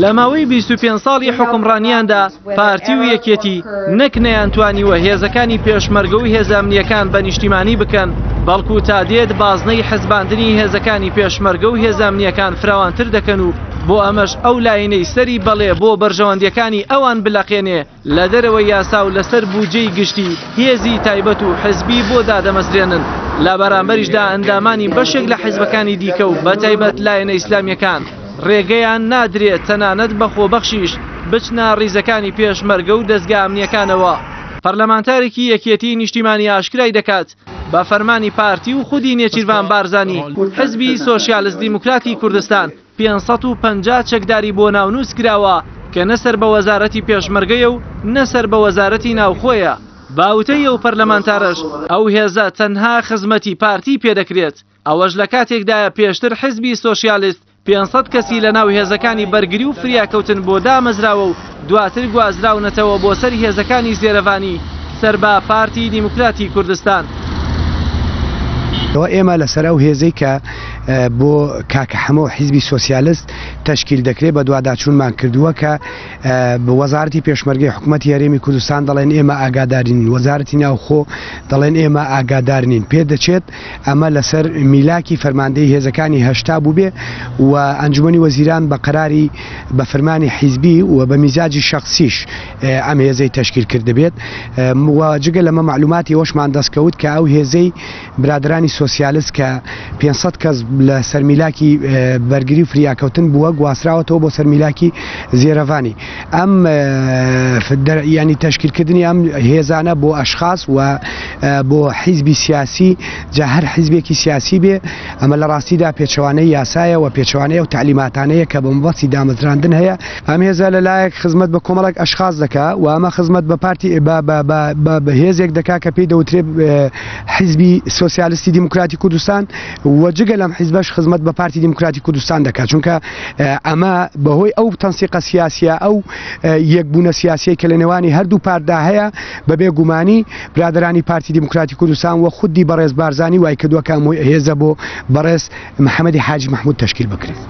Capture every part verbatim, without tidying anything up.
لە ماوەی بیست و پێنج ساڵی حوکمڕانیاندا پارتی و یەکێتی نەک نەیانتوانیوە هێزەکانی پێشمەرگە و هێزە ئەمنییەکان بە نیشتیمانی بکەن، بەڵکو تا دێت بازنەی حزباندنی هێزەکانی پێشمەرگە و هێزە ئەمنییەکان فراوانتر دەکەن و بۆ ئەمەش ئەو لاینەی سەری بەڵێ بۆ بەرژەوەندیەکانی ئەوان بلەقێنێ لە دەرەوەی یاسا و لەسەر بودجەی گشتی هێزی تایبەت و حزبی بۆ دادەمەزرێنن. لە بەرامبەریشدا ئەندامانی بەشێک لە حزبەکانی دیکە و بەتایبەت لایەنە ئیسلامیەکان ڕێگەیان نادرێت تەنانەت بە خۆبەخشیش بچنە ڕیزەکانی پێشمەرگە و دەزگا ئەمنیەکانەوە. پەرلەمانتارێکی یەکێتی نیشتیمانی ئاشکرای دەکات بە فەرمانی پارتی و خودی نێچیرڤان بارزانی حزبی سۆسیالست دیموکراتی کوردستان پێنج سەد و پەنجا چەکداری بۆ ناونووس کراوە کە نەسەر بە وەزارەتی پێشمەرگەیە و نەسەر بە وەزارەتی ناوخۆیە. باوتەی ئەو پەرلەمانتارەش ئەو هێزە تەنها خزمەتی پارتی پێدەکرێت، ئەوەش لە کاتێکدایە پێشتر حزبی سۆسیالست پێنج سەد کەسی لەناو هێزەکانی بەرگری و فریاکەوتن بۆ دامەزراوە و دواتر گوازراونەتەوە بۆ سەر هێزەکانی زێرەڤانی سەر بە پارتی دیموکراتی کوردستان. ئێمە لەسەر ئەو هێزەی کە بۆ کاکە حەمە و حیزبی سۆسیالست تەشکیل دەکرێت بەدواداچوونمان کردووە کە وەزارەتی پێشمەرگەی حکوومەتی هەرێمی کوردستان دەڵێن ئێمە ئاگادارین، وەزارەتی ناوخۆ دەڵێن ئێمە ئاگادار نین. پێ دەچێت ئەمە لەسەر میلاکی فەرماندەی هێزەکانی هەشتا بوو بێ و ئەنجومەنی وەزیران بە قەراری بە فەرمانی حیزبی و بە میزاجی شەخسیش ئەم هێزەی تەشکیل کردبێت. و جگە لەمە معلوماتی ئەوەشمان دەستکەوت کە ئەو هێزەی برادرانی سۆسیالست کە پێنج سەد کەس لە سەرمیلاکی بەرگری و فریاکەوتن بووە گواستراوەتەوە بۆ سەرمیلاکی زێرەڤانی. ئەم ینی تەشکیلکردنی ئەم هێزانە بۆ ئەشخاص و بۆ حیزبی سیاسی، جا هەر حیزبێکی سیاسی بێ، ئەمە لە ڕاستیدا پێچەوانەی یاسایە و پێچەوانەیە و تعلیماتانەیە کە بە مەبەستی دامەزراندن هەیە. ئەم هێزە لەلایەک خزمەت بە کۆمەڵێک ئەشخاص دەکا و ئەمە خزمەت بە پارتی بە هێزێک دەکا کە پێی دەوترێ حیزبی سۆسیالیستی دیموکراتی کوردستان و جگە لەم حیزبەش خزمەت بە پارتی دیموکراتی کوردستان دەکات، چونکە ئەمە بەهۆی ئەو تەنسیقە سیاسیە، ئەو یەکبوونە سیاسیەی کە لە نێوانی هەردوو پارتدا هەیە، بەبێ گومانی برادرانی پارتی دیموکراتی کوردستان و خودی بەڕێز بارزانی وای کردووە کە ئەم هێزە بۆ بەڕێز محەممەدی حاجی مەحموود تەشکیل بکرێت.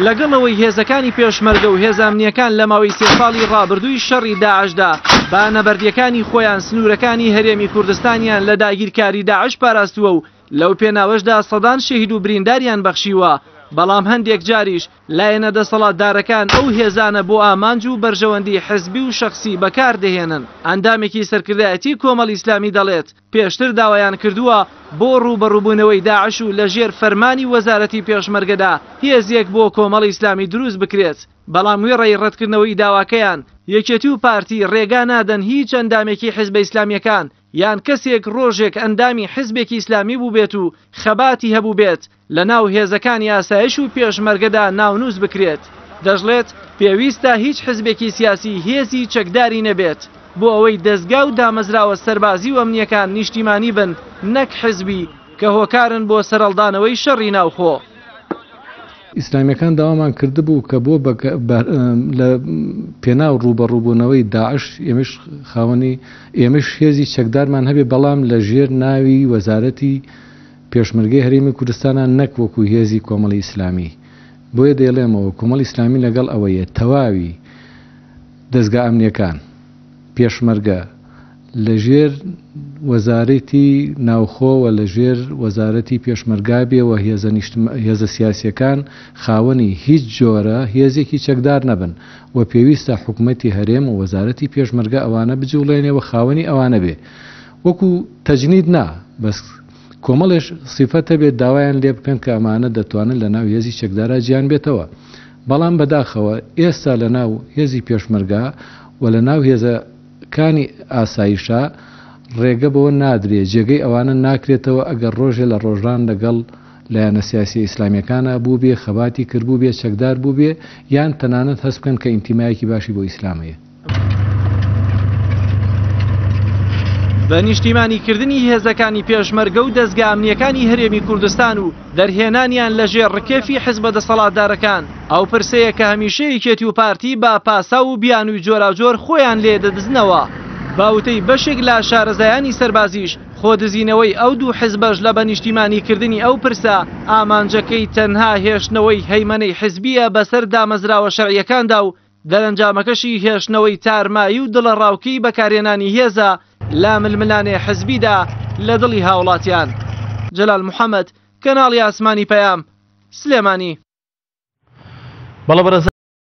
لەگەڵ ئەوەی هێزەکانی پێشمەرگە و هێزە ئەمنیەکان لە ماوەی سێ ساڵی ڕابردووی شەڕی داعشدا با نەبەردیەکانی خۆیان سنوورەکانی هەرێمی کوردستانیان لە داگیرکاری داعش پاراستووە و لەو پێناوەشدا سەدان شەهید و برینداریان بەخشیوە، بەڵام هەندێک جاریش لایەنە دەسەڵاتدارەکان ئەو هێزانە بۆ ئامانج و بەرژەوەندی حزبی و شەخسی بەکاردەهێنن. ئەندامێکی سەرکردایەتی کۆمەڵ ئیسلامی دەڵێت پێشتر داوایان کردووە بۆ ڕووبەڕووبوونەوەی داعش و لەژێر فەرمانی وەزارەتی پێشمەرگەدا هێزێک بۆ کۆمەڵ ئیسلامی دروست بکرێت، بەڵام وێڕای ڕەتکردنەوەی داواکەیان یەکێتی و پارتی ڕێگا نادەن هیچ ئەندامێکی حزبە ئیسلامیەکان یان کەسێک ڕۆژێک ئەندامی حزبێکی ئیسلامی بوو بێت و خەباتی هەبوو بێت لە ناو هێزەکانی ئاسایش و پێشمەرگەدا ناونووس بکرێت. دەشڵێت پێویستە هیچ حزبێکی سیاسی هێزی چەکداری نەبێت بۆ ئەوەی دەستگا و دامەزراوە سەربازی و ئەمنیەکان نیشتیمانی بن نەک حزبی کە هۆکارن بۆ سەرهەڵدانەوەی شەڕی ناوخۆ. ئیسلامیەکان داوامان کردبوو کە بۆ لە پێناو ڕووبەڕووبوونەوەی داعش ئێمەش خاوەنی ئێمەش هێزی چەکدارمان هەبێ، بەڵام لە ژێر ناوی وەزارەتی پێشمەرگەی هەرێمی کوردستانە نەک وەکو هێزی کۆمەڵی ئیسلامی. بۆیە دەیڵێمەوە کۆمەڵی ئیسلامی لەگەڵ ئەوەیە تەواوی دەستگا ئەمنیەکان پێشمەرگە لەژێر وەزارەتی ناوخۆ و لەژێر وەزارەتی پێشمەرگا بێ و هێزە سیاسیەکان خاوەنی هیچ جۆرە هێزێکی چەکدار نەبن و پێویستە حکوومەتی هەرێم و وەزارەتی پێشمەرگە ئەوانە بجوڵێنێ و خاوەنی ئەوانە بێ. وەکو تەجنید نا، بەس کۆمەڵێش سیفەتە بێت داوایان لێ بکەن کە ئەمانە دەتوانن لە ناو هێزی چەکدارا جیان بێتەوە. بەڵام بەداخەوە ئێستا لە ناو هێزی پێشمەرگا و لە ناو هێزەکانی ئاسایشا ڕێگە بەوە نادرێ، جێگەی ئەوانە ناکرێتەوە ئەگەر ڕۆژێ لە ڕۆژان لەگەڵ لایەنە سیاسی ئیسلامیەکانە بوو بێ، خەباتی کردبوو بێ، چەکدار بوو بێ، یان تەنانەت هەست بکەن کە ئینتیمایەکی باشی بۆ ئیسلام هەیە. بە نیشتیمانیکردنی هێزەکانی پێشمەرگە و دەستگا ئەمنیەکانی هەرێمی کوردستان و دەرهێنانیان لەژێر ڕکێفی حزبە دەسەڵاتدارەکان، ئەو پرسەیە کە هەمیشە یەکێتی و پارتی با پاساو و بیانووی جۆراوجۆر خۆیان لێ دەدزنەوە. باوتەی بەشێک لە شارەزایانی سەربازیش خۆدزینەوەی ئەو دوو حزبەش لە بەنیشتیمانیکردنی ئەو پرسە ئامانجەکەی تەنها هێشتنەوەی هەیمەنەی حزبیە بەسەر دامەزراوە شەرعیەکاندا و دەرەنجامەکەشی هێشتنەوەی تارمایی و دڵەڕاوکێی بەکارهێنانی هێزە لە ململانێ حزبیدا لە دڵی هاوڵاتیان. جەلال محەممەد، کەناڵی ئاسمانی پەیام، سلێمانی. بەڵێ بەڕێزان.